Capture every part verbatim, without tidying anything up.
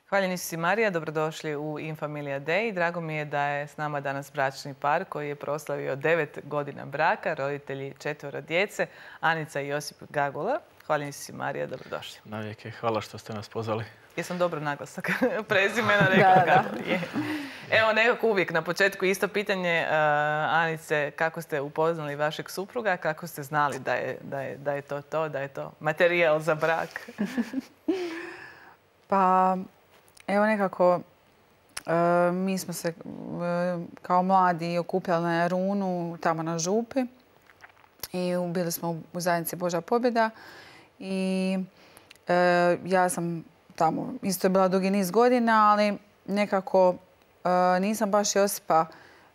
Hvaljeni si Marija, dobrodošli u Infamilija Day. Drago mi je da je s nama danas bračni par koji je proslavio devet godina braka, roditelji četvoro djece, Anica i Josip Gagula. Hvaljeni si Marija, dobrodošli. Navijek, hvala što ste nas pozvali. Jesam dobro naglasak prezimena rekla Gagula? Evo, nekako uvijek na početku isto pitanje, Anice, kako ste upoznali vašeg supruga, kako ste znali da je, da je, da je to to, da je to materijal za brak? Pa, evo nekako, e, mi smo se e, kao mladi okupljali na Jarunu, tamo na Župi. I bili smo u zajednici Božja pobjeda. I e, ja sam tamo isto bila dugi niz godina, ali nekako e, nisam baš Josipa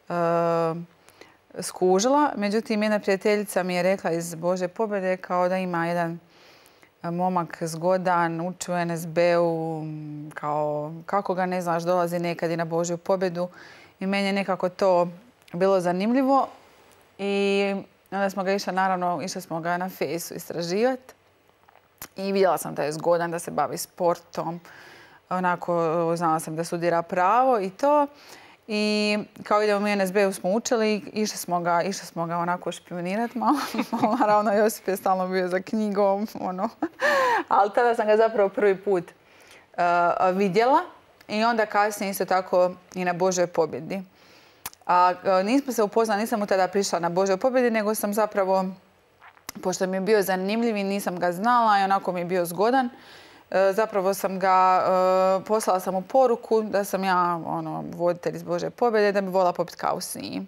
e, skužila. Međutim, jedna prijateljica mi je rekla iz Božje pobjede kao da ima jedan momak zgodan, uči u en es be-u, kao kako ga ne znaš, dolazi nekad i na Božju pobjedu. I meni je nekako to bilo zanimljivo. I onda smo ga išli, naravno, išli smo ga na Fejsu istraživati. I vidjela sam da je zgodan, da se bavi sportom. Onako, znala sam da studira pravo i to. I kao idemo u en es be-u smo učili, išli smo ga, išli smo ga onako špionirati malo. Naravno, Josip je stalno bio za knjigom, ono. Ali tada sam ga zapravo prvi put uh, vidjela. I onda kasnije isto tako i na Božjoj pobjedi. A uh, nismo se upoznali, nisam mu tada prišla na Božjoj pobjedi, nego sam zapravo, pošto mi je bio zanimljiv i nisam ga znala i onako mi je bio zgodan, zapravo sam ga, poslala sam mu poruku da sam ja ono, voditelj iz Božje pobjede, da bi voljela popiti kavu s njim.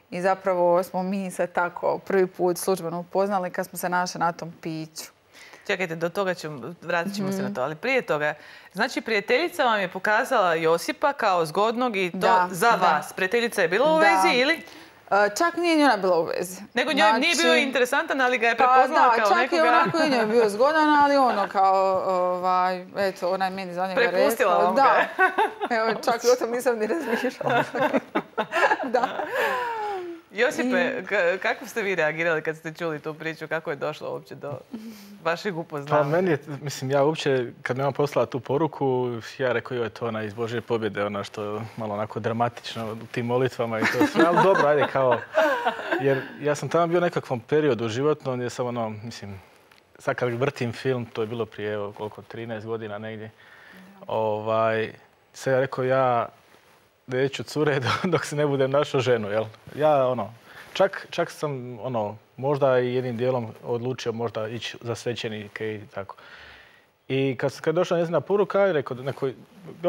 I zapravo smo mi se tako prvi put službeno upoznali kad smo se našli na tom piću. Čekajte, do toga ćemo, vratit ćemo mm. se na to, ali prije toga, znači prijateljica vam je pokazala Josipa kao zgodnog i to da, za da. vas. Prijateljica je bila u da. vezi ili? Čak nije njena bila u vezi. Nego njoj znači, nije bio interesantan, ali ga je prepoznala pa, da, kao čak nekoga... čak i onako i njoj bio zgodan, ali ono kao, ovaj, eto, ona je meni za njega rekla. Prepustila vam ga. Da. Evo, čak i o tom nisam ni razmišljala. Da. Josipe, kako ste vi reagirali kad ste čuli tu priču? Kako je došlo uopće do vašeg upoznavanja? Pa meni je, mislim, ja uopće, kad mi je on poslala tu poruku, ja rekao, joj, to ona iz Božje pobjede, ona što je malo onako dramatično u tim molitvama i to sve. Ali dobro, ajde, kao, jer ja sam tamo bio u nekakvom periodu životnom gdje sam ono, mislim, sad kad vrtim film, to je bilo prije, evo, koliko, trinaest godina negdje, ovaj, sad ja rekao, ja neću cure dok se ne budem našao ženu, jel? Ja, ono, čak, čak sam, ono, možda i jednim dijelom odlučio možda ići za svećenike i tako. I kad, kad je došla njezina poruka, ja rekao, neko, ja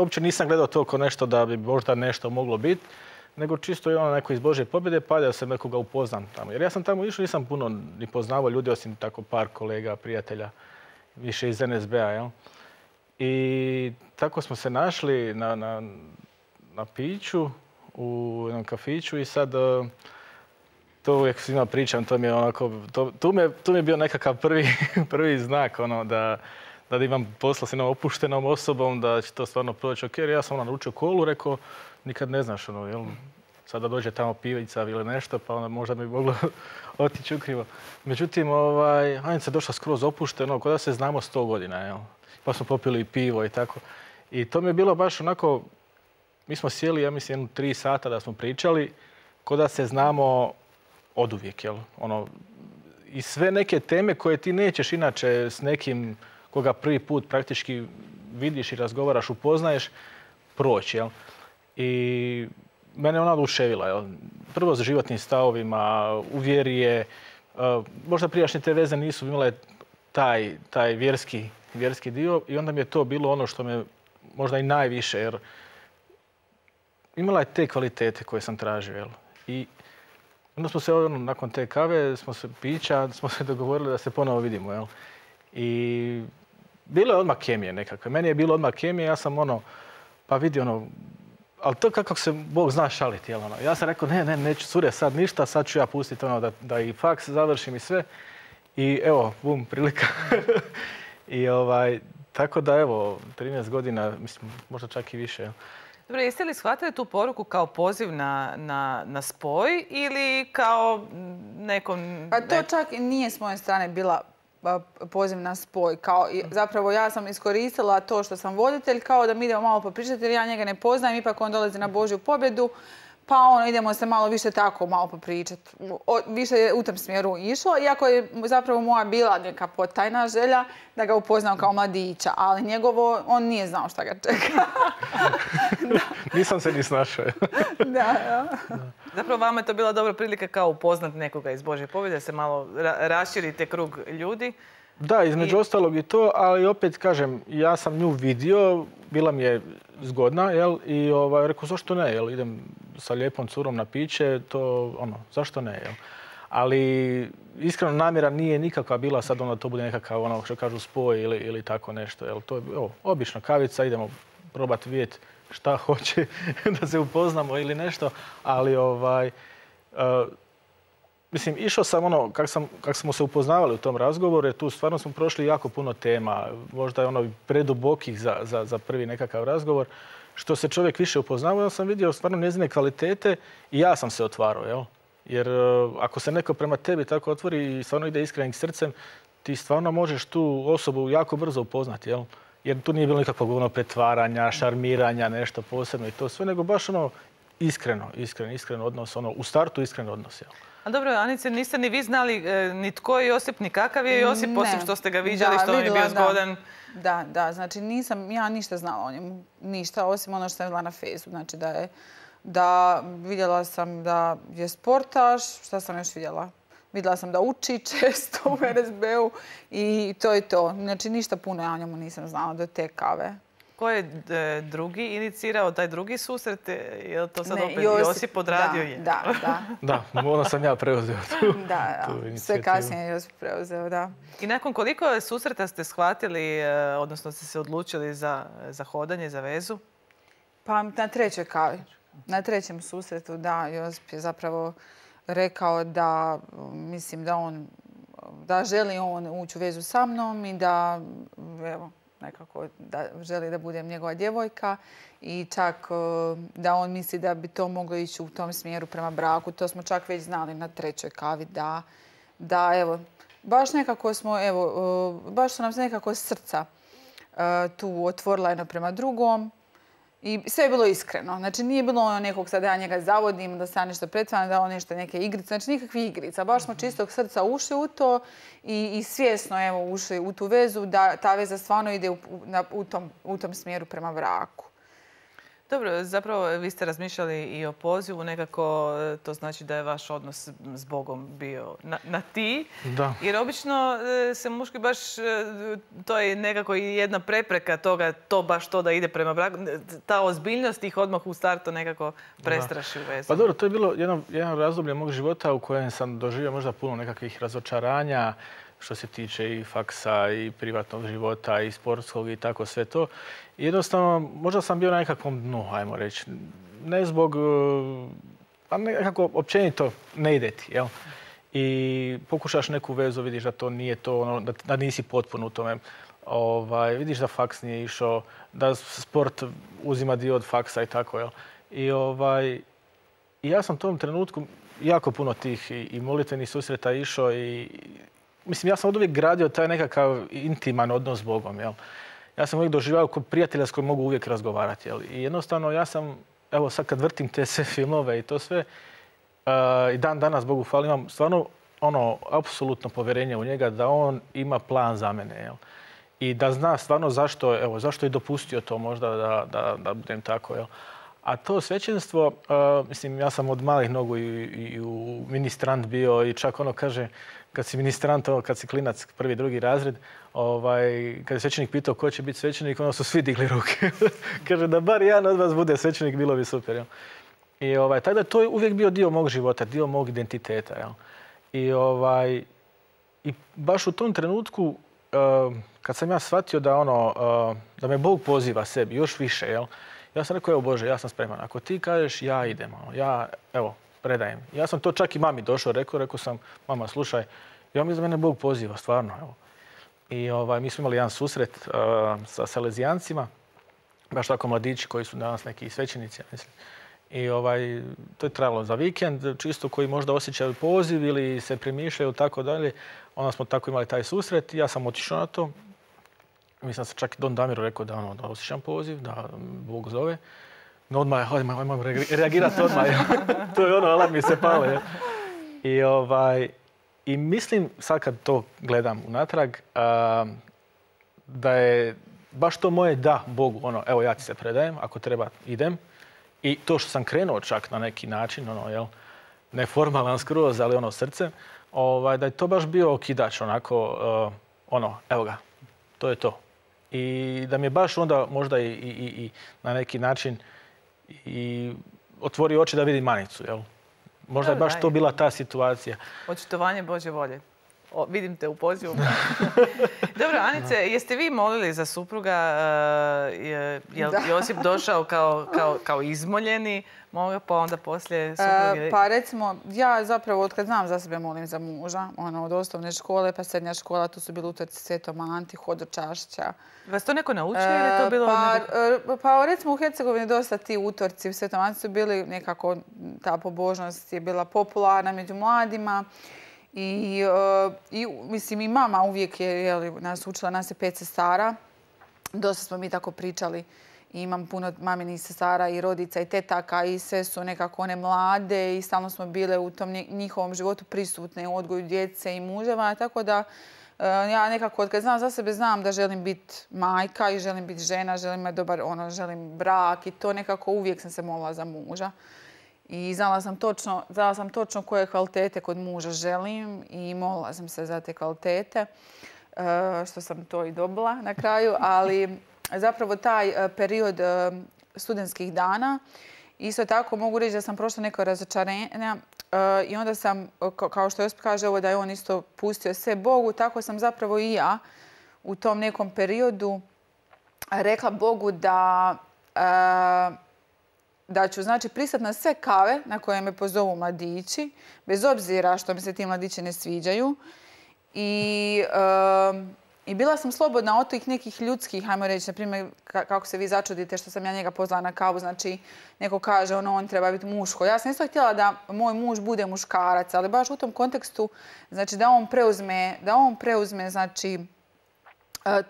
uopće nisam gledao to kao nešto da bi možda nešto moglo biti, nego čisto je ono neko iz Božje pobjede, pa da se nekoga upoznam tamo. Jer ja sam tamo išao, nisam puno ni poznavao ljudi, osim tako par kolega, prijatelja, više iz en es be-a, jel? I tako smo se našli na, na na piću u jednom kafiću i sad to uvijek svima pričam, to mi je onako, to, tu, me, tu mi je bio nekakav prvi, prvi znak ono, da, da imam posla s jednom opuštenom osobom, da će to stvarno proći ok. Jer ja sam ono naručio kolu, rekao, nikad ne znaš, ono, jel, sada dođe tamo pivica ili nešto, pa onda možda mi moglo otići ukrivo. Međutim, ovaj, Anica je došla skroz opušteno, kao da se znamo sto godina, jel. Pa smo popili pivo i tako. I to mi je bilo baš onako, mi smo sjeli, ja mislim, jednu tri sata da smo pričali, ko da se znamo oduvijek, jel? Ono, i sve neke teme koje ti nećeš inače s nekim koga prvi put praktički vidiš i razgovaraš, upoznaješ, proći, jel? I mene ona oduševila, jel? Prvo s životnim stavovima, u vjeri je, možda prijašnje te veze nisu imale taj, taj vjerski, vjerski dio i onda mi je to bilo ono što me možda i najviše, jer imala je te kvalitete koje sam tražio, jel? I onda smo se, ono, nakon te kave, smo se pića, smo se dogovorili da se ponovo vidimo, jel? I bilo je odmah kemije nekakve. Meni je bilo odmah kemije, ja sam ono, pa vidi ono, ali to kako se Bog zna šaliti, jel ono? Ja sam rekao, ne, ne, neću cure sad ništa, sad ću ja pustiti ono da, da i faks završim i sve. I evo, bum, prilika. I ovaj, tako da evo, trinaest godina, mislim, možda čak i više, jel? Dobro, jeste li shvatili tu poruku kao poziv na, na, na spoj ili kao nekom... Pa to čak nije s moje strane bila poziv na spoj. Kao, zapravo ja sam iskoristila to što sam voditelj kao da mi idemo malo popričati jer ja njega ne poznajem, ipak on dolazi na Božju pobjedu. Pa ono, idemo se malo više tako malo popričati. Više je u tom smjeru išlo, iako je zapravo moja bila neka potajna želja da ga upoznam kao mladića, ali njegovo, on nije znao šta ga čeka. Nisam se ni snašao. Da, da. Zapravo vama je to bila dobra prilika kao upoznat nekoga iz Božje pobjede, da se malo ra- raširite krug ljudi. Da, između I... ostalog i to, ali opet kažem, ja sam nju vidio, bila mi je zgodna, jel? I ovaj, rekao, zašto ne, jel? Idem sa lijepom curom na piće, to, ono, zašto ne, jel? Ali iskreno namjera nije nikakva bila sad ono to bude nekakav, ono, što kažu, spoj ili, ili tako nešto, jel? To je, evo, obična kavica, idemo probati vidjeti šta hoće da se upoznamo ili nešto, ali ovaj... Uh, Mislim, išao sam ono, kak, sam, kak smo se upoznavali u tom razgovoru, jer tu stvarno smo prošli jako puno tema, možda je ono predubokih za, za, za prvi nekakav razgovor. Što se čovjek više upoznavao, ja sam vidio stvarno njezine kvalitete i ja sam se otvarao, jel? Jer ako se neko prema tebi tako otvori i stvarno ide iskrenim srcem, ti stvarno možeš tu osobu jako brzo upoznati, jel? Jer tu nije bilo nikakvog ono pretvaranja, šarmiranja, nešto posebno i to sve, nego baš ono iskreno, iskreno, iskreno odnos, ono u startu iskren odnos, jel? A dobro, Anice, niste ni vi znali e, ni tko je Josip, ni kakav je Josip, ne. Osim što ste ga viđali, da, što vam je bio zgodan. Da, da, znači nisam ja ništa znala o njemu, ništa, osim ono što sam vidjela na Fejsu. Znači da je, da vidjela sam da je sportaš, šta sam još vidjela? Vidjela sam da uči često u er es be u i to je to. Znači ništa puno ja o njemu nisam znala do te kave. Ko je e, drugi inicirao taj drugi susret? Je li to sad ne, opet Josip, Josip odradio? Da, je? da, da. Da, ono sam ja preuzeo tu, da, tu da. Sve kasnije je Josip preuzeo, da. I nakon koliko susreta ste shvatili, e, odnosno ste se odlučili za, za hodanje, za vezu? Pa na trećoj kavi. Na trećem susretu, da, Josip je zapravo rekao da, mislim da on, da želi on ući u vezu sa mnom i da, evo, nekako da želi da budem njegova djevojka i čak da on misli da bi to moglo ići u tom smjeru prema braku. To smo čak već znali na trećoj kavi da, da evo, baš nekako smo, evo, baš su nam se nekako srca tu otvorila jedno prema drugom. I sve je bilo iskreno. Znači nije bilo ono nekog sad ja njega zavodim, da se ja nešto pretvaram, da on nešto neke igrice. Znači nikakvih igrica. Baš smo čistog srca ušli u to i, i svjesno evo, ušli u tu vezu da ta veza stvarno ide u, na, u, tom, u tom smjeru prema braku. Dobro, zapravo vi ste razmišljali i o pozivu, nekako to znači da je vaš odnos s Bogom bio na, na ti. Da. Jer obično se muški baš, to je nekako i jedna prepreka toga, to baš to da ide prema braku. Ta ozbiljnost ih odmah u startu nekako prestraši u vezu. Pa dobro, to je bilo jedno, jedno razdoblje mog života u kojem sam doživio možda puno nekakvih razočaranja, što se tiče i faksa i privatnog života i sportskog i tako sve to. I jednostavno, možda sam bio na nekakvom dnu, ajmo reći. Ne zbog, pa nekako općenito ne ide ti, jel? I pokušaš neku vezu, vidiš da to nije to, ono, da, da nisi potpuno u tome. Ovaj, vidiš da faks nije išao, da sport uzima dio od faksa i tako, jel? I ovaj, i ja sam u tom trenutku jako puno tih i, i molitvenih susreta išao i mislim, ja sam od uvijek gradio taj nekakav intiman odnos s Bogom, jel? Ja sam uvijek doživao kao prijatelja s kojim mogu uvijek razgovarati, jel? I jednostavno ja sam, evo sad kad vrtim te sve filmove i to sve, uh, i dan danas Bogu hvala, imam stvarno ono, apsolutno povjerenje u njega da on ima plan za mene, jel? I da zna stvarno zašto, evo, zašto je dopustio to možda da, da, da budem tako, jel? A to svećenstvo, uh, mislim, ja sam od malih nogu i, i u ministrant bio i čak ono kaže, kad si ministrant, ono, kad si klinac, prvi, drugi razred, ovaj, kad je svećenik pitao ko će biti svećenik, ono su svi digli ruke. Kaže da bar jedan od vas bude svećenik, bilo bi super. Jel? I ovaj, tako da to je uvijek bio dio mog života, dio mog identiteta. Jel? I, ovaj, i baš u tom trenutku, uh, kad sam ja shvatio da, ono, uh, da me Bog poziva sebi još više, jel? Ja sam rekao, evo Bože, ja sam spreman. Ako ti kažeš, ja idem. Ono, ja, evo, predajem. Ja sam to čak i mami došao, rekao, rekao sam, mama, slušaj, ja mislim da mene Bog poziva, stvarno, evo. I ovaj, mi smo imali jedan susret uh, sa Salezijancima, baš tako mladići koji su danas neki svećenici, ja mislim. I ovaj, to je trajalo za vikend, čisto koji možda osjećaju poziv ili se premišljaju tako dalje. Onda smo tako imali taj susret i ja sam otišao na to. Mislim sam čak i Don Damiru rekao da, ono, da osjećam poziv, da Bog zove. No odmah, odmah, odmah reagirati odmah. To je ono, alarm mi se pale. I, ovaj, I mislim, sad kad to gledam unatrag, a, da je baš to moje da Bogu, ono, evo ja ti se predajem, ako treba idem. I to što sam krenuo čak na neki način, ono, jel, neformalan skroz, ali ono srce, ovaj, da je to baš bio okidač, onako, uh, ono, evo ga, to je to. I da mi je baš onda možda i, i, i na neki način i otvorio oči da vidim Anicu, jel? Možda je baš to bila ta situacija. Očitovanje Božje volje. O, vidim te u pozivu. Dobro, Anice, jeste vi molili za supruga? Je, je li Josip došao kao, kao, kao izmoljeni? Moga, pa onda poslije supruge? E, pa recimo, ja zapravo od kad znam za sebe molim za muža. Ono, od osnovne škole pa srednja škola, tu su bili utorci Svetom Anti, Hodočašća. Vas to neko naučio ili je to bilo? Pa, neko... pa recimo u Hercegovini dosta ti utorci u Svetom Anti su bili nekako, ta pobožnost je bila popularna među mladima. I, uh, i mislim i mama uvijek je, jeli, nas učila, nas je pet sestara. Dosta smo mi tako pričali. I imam puno maminih sestara i rodica i tetaka i sve su nekako one mlade i stalno smo bile u tom njihovom životu prisutne u odgoju djece i muževa. Tako da uh, ja nekako od kad znam za sebe znam da želim biti majka i želim biti žena, želim imati dobar, ono, želim brak i to nekako uvijek sam se molila za muža. I znala sam točno, znala sam točno koje kvalitete kod muža želim i molila sam se za te kvalitete, što sam to i dobila na kraju. Ali zapravo taj period studentskih dana, isto tako mogu reći da sam prošla neko razočarenja i onda sam, kao što Josip kaže ovo da je on isto pustio sve Bogu, tako sam zapravo i ja u tom nekom periodu rekla Bogu da... da ću, znači, pristati na sve kave na koje me pozovu mladići, bez obzira što mi se ti mladići ne sviđaju. I, um, i bila sam slobodna od tih nekih ljudskih, hajmo reći, na primjer, kako se vi začudite što sam ja njega pozvala na kavu, znači, neko kaže, ono, on treba biti muško. Ja sam isto htjela da moj muž bude muškarac, ali baš u tom kontekstu, znači, da on preuzme, da on preuzme, znači,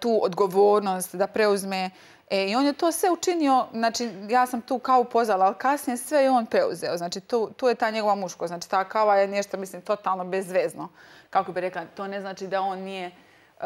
tu odgovornost, da preuzme. E, I on je to sve učinio, znači ja sam tu kavu pozvala, ali kasnije sve je on preuzeo. Znači tu, tu je ta njegova muško, znači ta kava je nešto, mislim, totalno bezvezno. Kako bi rekla, to ne znači da on nije uh,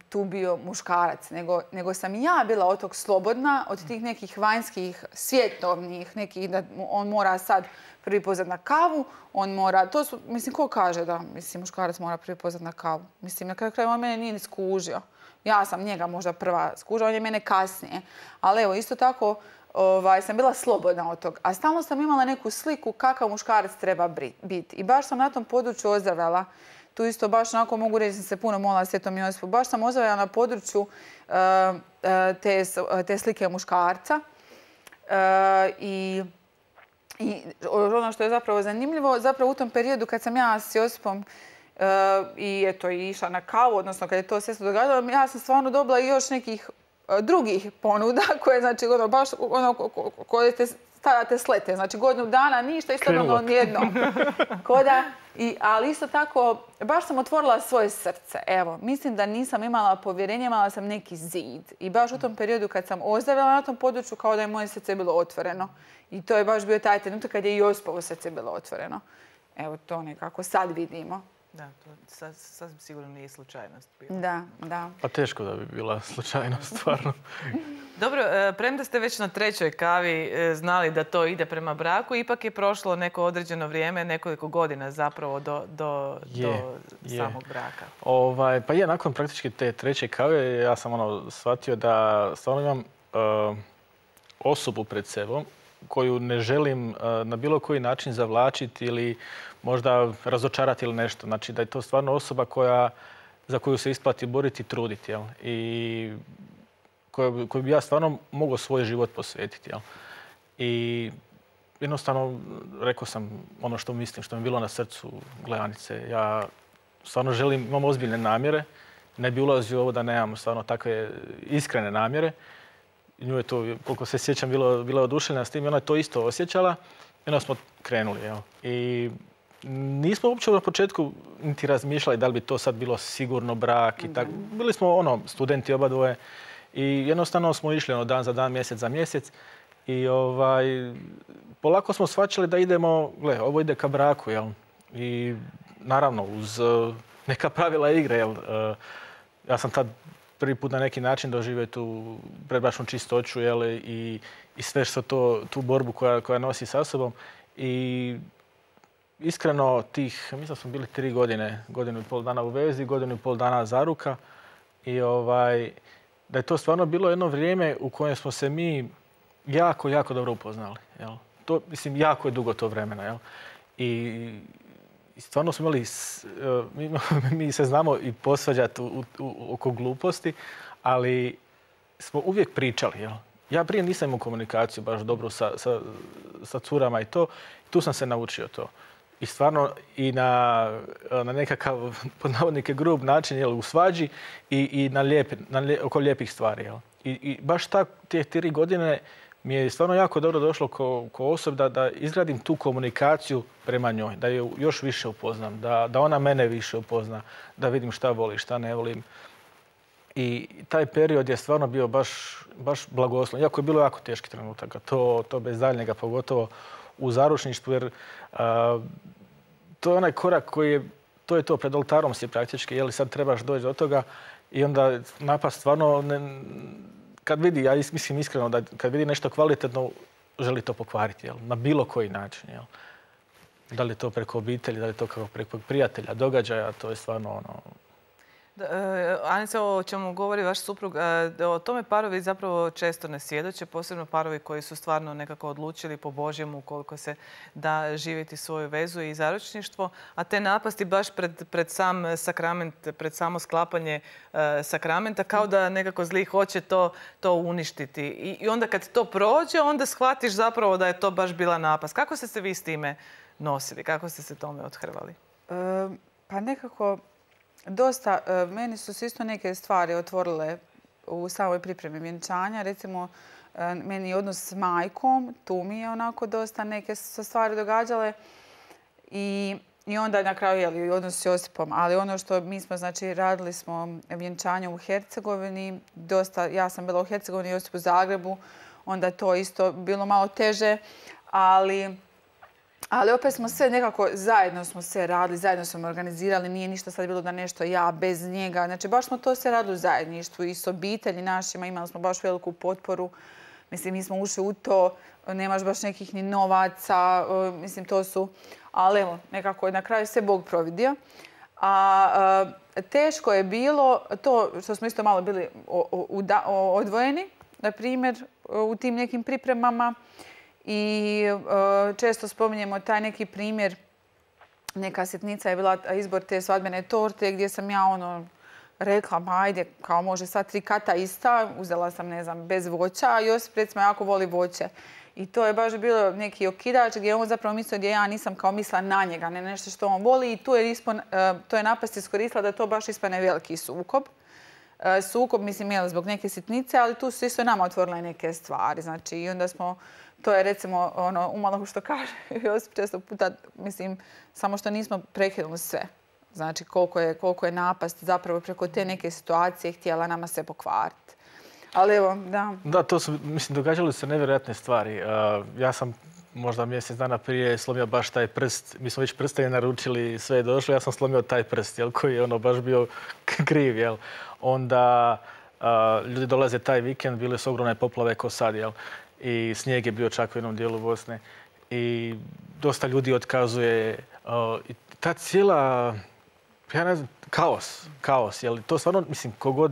tu bio muškarac, nego, nego sam ja bila od tog slobodna, od tih nekih vanjskih, svjetovnih, nekih da on mora sad prvi pozvat na kavu, on mora, to su, mislim, ko kaže da, mislim, muškarac mora prvi pozvat na kavu? Mislim, na kraju kraju on mene nije ni skužio. Ja sam njega možda prva skužila, on je mene kasnije. Ali evo, isto tako ovaj, sam bila slobodna od toga. A stalno sam imala neku sliku kakav muškarac treba biti. I baš sam na tom području ozdravljala. Tu isto baš onako mogu reći da sam se puno molila Svetom Josipu. Baš sam ozdravljala na području uh, te, te slike muškarca. Uh, i, I ono što je zapravo zanimljivo, zapravo u tom periodu kad sam ja s Josipom Uh, i eto, i išla na kavu, odnosno kad je to sve se događalo, ja sam stvarno dobila i još nekih uh, drugih ponuda koje, znači, ono, baš ono, koje te stavljate slete. Znači, godinu dana, ništa, isto ono nijedno. Koda, i, ali isto tako, baš sam otvorila svoje srce. Evo, mislim da nisam imala povjerenje, imala sam neki zid. I baš u tom periodu kad sam ozdravila na tom području, kao da je moje srce bilo otvoreno. I to je baš bio taj trenutak kad je i Josipovo srce bilo otvoreno. Evo, to nekako sad vidimo. Da, to sasvim sigurno nije slučajnost bila. Da, da. Pa teško da bi bila slučajnost, stvarno. Dobro, premda ste već na trećoj kavi znali da to ide prema braku, ipak je prošlo neko određeno vrijeme, nekoliko godina zapravo do, do, je, do samog braka. Ovaj, pa je, nakon praktički te treće kave ja sam ono shvatio da stvarno imam uh, osobu pred sebom koju ne želim uh, na bilo koji način zavlačiti ili možda razočarati ili nešto. Znači da je to stvarno osoba koja, za koju se isplati boriti i truditi. Jel? I koju, koju bi ja stvarno mogao svoj život posvetiti. Jel? I jednostavno rekao sam ono što mislim, što mi je bilo na srcu, gle Anice. Ja stvarno želim, imam ozbiljne namjere. Ne bi ulazio u ovo da nemam stvarno takve iskrene namjere. nju je to, koliko se sjećam, bilo, bila oduševljena s tim i ona je to isto osjećala i onda smo krenuli. Jel? I nismo uopće na početku niti razmišljali da li bi to sad bilo sigurno brak i tako. Bili smo ono, studenti oba dvoje i jednostavno smo išli ono, dan za dan, mjesec za mjesec i ovaj, polako smo shvaćali da idemo, gle, ovo ide ka braku, jel? I naravno uz uh, neka pravila igre, jel? Uh, ja sam tad prvi put na neki način doživio tu predbračnu čistoću, jel? I, i sve što to, tu borbu koja, koja nosi sa sobom. I iskreno tih, mislim da smo bili tri godine, godinu i pol dana u vezi, godinu i pol dana zaruka. I ovaj, da je to stvarno bilo jedno vrijeme u kojem smo se mi jako, jako dobro upoznali. Jel? To, mislim, jako je dugo to vremena. Jel? I, i stvarno smo imali, mi, mi se znamo i posvađati u, u, oko gluposti, ali smo uvijek pričali. Jel? Ja prije nisam imao komunikaciju baš dobru sa, sa, sa curama i to. Tu sam se naučio to. I stvarno i na, na nekakav, pod navodnike, grub način, jel, u svađi i, i na lijepi, na lije, oko lijepih stvari. Jel. I, I baš tak, te tri godine mi je stvarno jako dobro došlo ko, ko osob da, da izgradim tu komunikaciju prema njoj, da je još više upoznam, da, da ona mene više upozna, da vidim šta voli, šta ne volim. I taj period je stvarno bio baš, baš blagosloven. Iako je bilo jako teški trenutaka, to, to bez daljnjega, pogotovo u zaručništvu, jer a, to je onaj korak koji je, to je to, pred oltarom si praktički, jel sad trebaš doći do toga i onda napast stvarno, ne, kad vidi, ja mislim iskreno da kad vidi nešto kvalitetno, želi to pokvariti, jel, na bilo koji način, jel. Da li je to preko obitelji, da li je to kako preko prijatelja, događaja, to je stvarno ono... Anice, o čemu govori vaš suprug, o tome parovi zapravo često ne svjedoče, posebno parovi koji su stvarno nekako odlučili po Božjemu koliko se da živjeti svoju vezu i zaručništvo, a te napasti baš pred, pred sam sakrament, pred samo sklapanje uh, sakramenta, kao da nekako zli hoće to, to uništiti. I, I onda kad to prođe, onda shvatiš zapravo da je to baš bila napast. Kako ste se vi s time nosili? Kako ste se tome othrvali? E, pa nekako... Dosta, meni su se isto neke stvari otvorile u samoj pripremi vjenčanja. Recimo, meni je odnos s majkom, tu mi je onako dosta neke stvari događale. I, i onda na kraju je odnos s Josipom. Ali ono što mi smo, znači, radili smo vjenčanje u Hercegovini. Dosta, ja sam bila u Hercegovini, Josip u Zagrebu. Onda je to isto bilo malo teže, ali... Ali opet smo sve nekako, zajedno smo sve radili, zajedno smo organizirali, nije ništa sad bilo da nešto ja bez njega. Znači, baš smo to sve radili u zajedništvu i s obitelji našima, imali smo baš veliku potporu. Mislim, mi smo ušli u to, nemaš baš nekih ni novaca, mislim, to su... Ali evo, nekako na kraju sve Bog providio. A teško je bilo to što smo isto malo bili odvojeni, na primjer, u tim nekim pripremama. I uh, često spominjemo taj neki primjer, neka sitnica je bila izbor te svadbene torte gdje sam ja ono rekla, ma ajde, kao može sad tri kata ista, uzela sam, ne znam, bez voća, a Josip recimo jako voli voće. I to je baš bilo neki okidač gdje on zapravo mislio gdje ja nisam kao mislila na njega, ne nešto što on voli i tu je, ispon, uh, to je napast iskoristila da to baš ispane veliki sukob. Uh, sukob, mislim, je zbog neke sitnice, ali tu su isto nama otvorile neke stvari, znači i onda smo... To je recimo ono, umalo što kaže Josip često puta, mislim, samo što nismo prekinuli sve. Znači koliko je, koliko je napast zapravo preko te neke situacije htjela nama sve pokvariti. Ali evo, da. Da, to su, mislim, događale se nevjerojatne stvari. Uh, ja sam možda mjesec dana prije slomio baš taj prst. Mi smo već prstenje naručili, sve je došlo. Ja sam slomio taj prst, jel, koji je ono baš bio kriv, jel. Onda uh, ljudi dolaze taj vikend, bile su ogromne poplave ko sad, jel. I snijeg je bio čak u jednom dijelu Bosne. I dosta ljudi otkazuje. Uh, i ta cijela, ja ne znam, kaos. Kaos, jel? To stvarno, mislim, kogod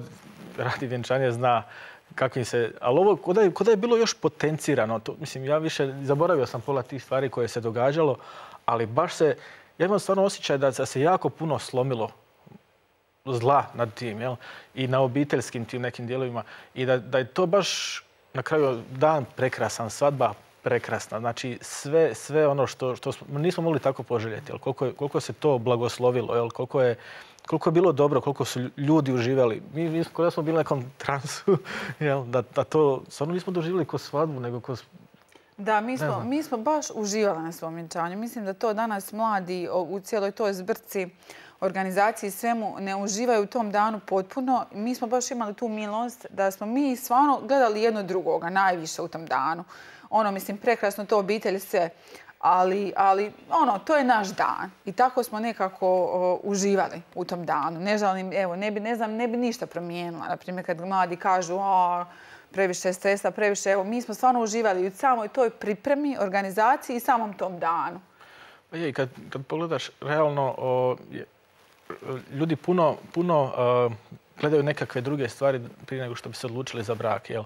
radi vjenčanje zna kakvim se... Ali ovo, kod je, kod je bilo još potencirano. To, mislim, ja više zaboravio sam pola tih stvari koje se događalo, ali baš se... Ja imam stvarno osjećaj da se jako puno slomilo zla nad tim, jel? I na obiteljskim tim nekim dijelovima. I da, da je to baš... Na kraju dan prekrasan, svadba prekrasna. Znači, sve, sve ono što, što smo, nismo mogli tako poželjeti. Jel? Koliko, koliko se to blagoslovilo, jel? Koliko je koliko je bilo dobro, koliko su ljudi uživali. Mi, mi kod da smo bili na nekom transu, jel? Da, da to stvarno nismo doživjeli ko svadbu, nego ko... Da, mi smo, mi smo baš uživali na svom vjenčanju. Mislim da to danas mladi u cijeloj toj zbrci, organizaciji i svemu ne uživaju u tom danu potpuno. Mi smo baš imali tu milost da smo mi stvarno gledali jedno drugoga najviše u tom danu. Ono, mislim, prekrasno to obitelj sve. Ali, ali ono, to je naš dan. I tako smo nekako o, uživali u tom danu. Ne žalim, evo, ne bi, ne znam, ne bi ništa promijenila. Naprimjer, kad mladi kažu, o, previše stresa, previše, evo, mi smo stvarno uživali u samoj toj pripremi, organizaciji i samom tom danu. Pa je, kad, kad pogledaš, realno, o, je, ljudi puno, puno uh, gledaju nekakve druge stvari prije nego što bi se odlučili za brak. Jel?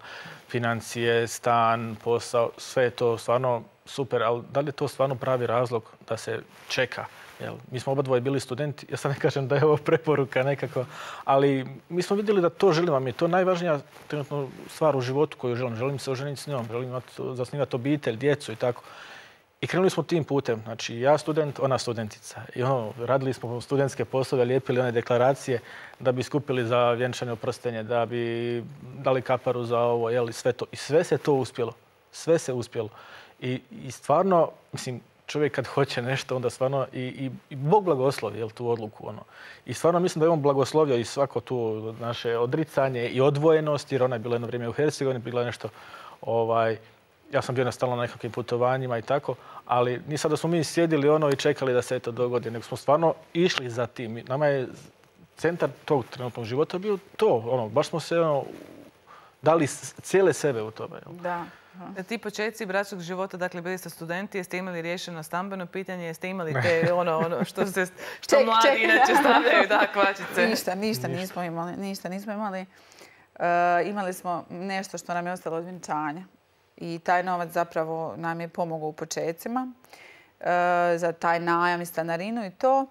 Financije, stan, posao, sve je to stvarno super, ali da li je to stvarno pravi razlog da se čeka? Jel? Mi smo oba dvoje bili studenti, ja sad ne kažem da je ovo preporuka nekako, ali mi smo vidjeli da to želimo. Mi je to najvažnija trenutno stvar u životu koju želim. Želim se oženiti s njom, želim zasnivati obitelj, djecu i tako. I krenuli smo tim putem. Znači, ja student, ona studentica. I ono, radili smo studentske poslove, lijepili one deklaracije da bi skupili za vjenčanje oprostenje, da bi dali kaparu za ovo, jel, i sve to. I sve se to uspjelo. Sve se uspjelo. I, i stvarno, mislim, čovjek kad hoće nešto, onda stvarno i, i, i Bog blagoslovi, jel, tu odluku. Ono. I stvarno mislim da je on blagoslovio i svako tu naše odricanje i odvojenost, jer ona je bila jedno vrijeme u Hercegovini, bila nešto, ovaj, ja sam bio na stalno na nekakvim putovanjima i tako, ali nije sad da smo mi sjedili ono i čekali da se to dogodi, nego smo stvarno išli za tim. Nama je centar tog trenutnog života bio to, ono, baš smo se ono, dali cijele sebe u tome. Jel? Da. Ti početci bračnog života, dakle bili ste studenti, jeste imali riješeno stambeno pitanje, jeste imali te ono, ono što, se, što ček, mladi ček. inače stavljaju, da, kvačice? Ništa, ništa nismo imali. Ništa nismo imali. Uh, imali smo nešto što nam je ostalo od vjenčanja. I taj novac zapravo nam je pomogao u početcima uh, za taj najam i stanarinu i to.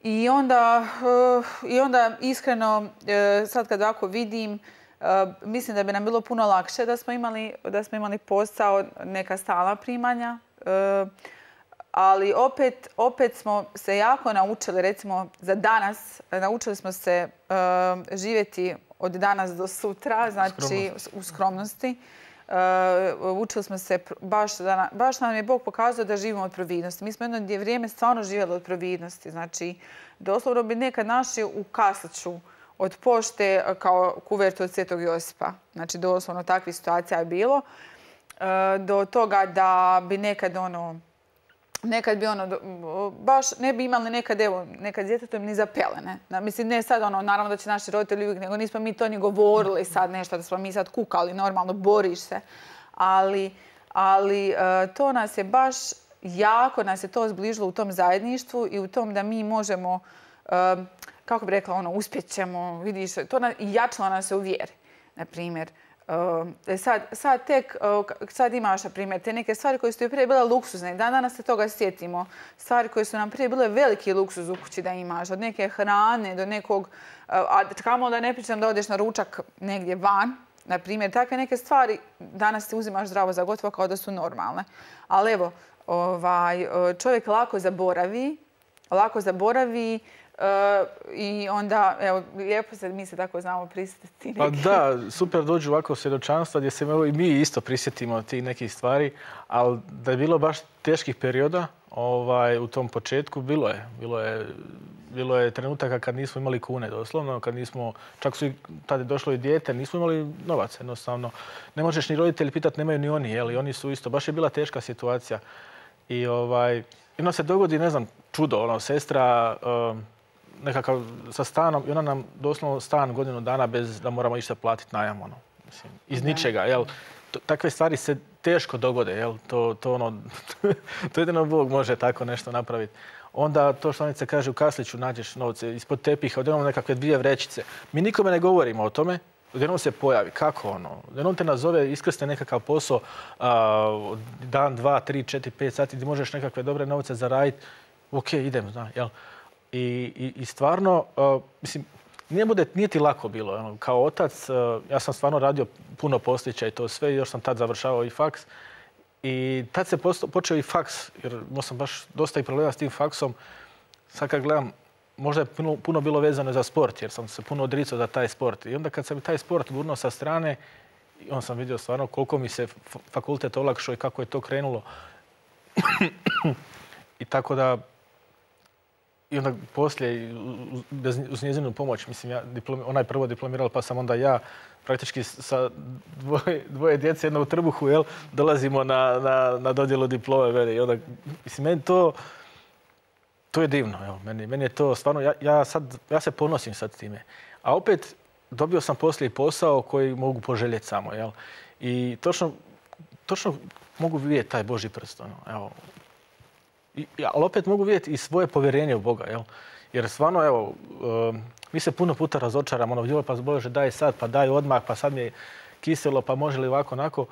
I onda, uh, i onda iskreno, uh, sad kad ovako vidim, Uh, mislim da bi nam bilo puno lakše da smo imali, da smo imali posao, neka stalna primanja. Uh, ali opet, opet smo se jako naučili, recimo za danas, naučili smo se uh, živjeti od danas do sutra, znači skromnosti. u skromnosti. Uh, učili smo se, baš, da, baš nam je Bog pokazao da živimo od providnosti. Mi smo jedno vrijeme stvarno živjeli od providnosti. Znači, doslovno bi nekad našli u kasliću od pošte kao kuvertu od Svetog Josipa. Znači, doslovno takvih situacija je bilo. E, do toga da bi nekad ono, nekad bi ono, baš ne bi imali nekad, evo, nekad djetetom ni za pelene. Mislim, ne sad ono, naravno da će naši roditelji uvijek, nego nismo mi to ni govorili sad nešto, da smo mi sad kukali, normalno, boriš se. Ali, ali e, to nas je baš, jako nas je to zbližilo u tom zajedništvu i u tom da mi možemo, e, kako bih rekla, ono, uspjet ćemo, vidiš, to na, i jačilo nas se u vjeri, na primjer. Uh, sad, sad tek, uh, sad imaš, na primjer, te neke stvari koje su ti prije bile luksuzne. Dan danas se toga sjetimo. Stvari koje su nam prije bile veliki luksuz u kući da imaš. Od neke hrane do nekog, uh, a kamo da ne pričam da odeš na ručak negdje van. Na primjer, takve neke stvari danas ti uzimaš zdravo za gotovo kao da su normalne. Ali evo, ovaj, čovjek lako zaboravi, lako zaboravi, Uh, i onda, evo, lijepo se mi se tako znamo prisjetiti. Pa da, super dođu ovako svjedočanstva gdje se evo, i mi isto prisjetimo tih nekih stvari, ali da je bilo baš teških perioda ovaj, u tom početku, bilo je. Bilo je, bilo je trenutaka kad nismo imali kune doslovno, kad nismo, čak su i tada je došlo i dijete, nismo imali novac jednostavno. Ne možeš ni roditelji pitati, nemaju ni oni, jel? I oni su isto, baš je bila teška situacija. I ovaj, jedno se dogodi, ne znam, čudo, ono, sestra, um, nekakav sa stanom i ona nam doslovno stan godinu dana bez da moramo išta platiti najam, ono, mislim, iz ničega, jel? Takve stvari se teško dogode, jel? To, to ono, to jedino Bog može tako nešto napraviti. Onda to što Anica kaže, u kasliću nađeš novce ispod tepiha, odjednom nekakve dvije vrećice. Mi nikome ne govorimo o tome, odjednom se pojavi. Kako ono? Odjednom te nazove, iskrsne nekakav posao, a, dan, dva, tri, četiri, pet sati gdje možeš nekakve dobre novce zaraditi. Ok, idem, zna, jel? I, i, i stvarno, uh, mislim, nije, bude, nije ti lako bilo. Ono, kao otac, uh, ja sam stvarno radio puno poslića i to sve, još sam tad završavao i faks. I tad se počeo i faks, jer imao sam baš dosta i problema s tim faksom. Sad kad gledam, možda je puno, puno bilo vezano za sport, jer sam se puno odricao za taj sport. I onda kad sam taj sport gurnuo sa strane, onda sam vidio stvarno koliko mi se fakultet olakšao i kako je to krenulo. I tako da, i onda poslije, bez, uz njezinu pomoć, mislim, ja diplom, ona je prvo diplomirala, pa sam onda ja praktički sa dvoje, dvoje djece, jedno u trbuhu, jel, dolazimo na, na, na dodjelu diplome. Veli. I onda, mislim, meni to, to je divno. Evo. Meni, meni je to stvarno, ja, ja, sad, ja se ponosim sad time. A opet, dobio sam poslije posao koji mogu poželjeti samo. Jel? I točno, točno mogu vidjeti taj Božji prst. Ono, evo. I, ali opet mogu vidjeti i svoje povjerenje u Boga. Jel? Jer stvarno, evo, um, mi se puno puta razočaramo. Ono, joj, pa Bože, daj sad, pa daj odmah, pa sad mi je kiselo, pa može li ovako, onako.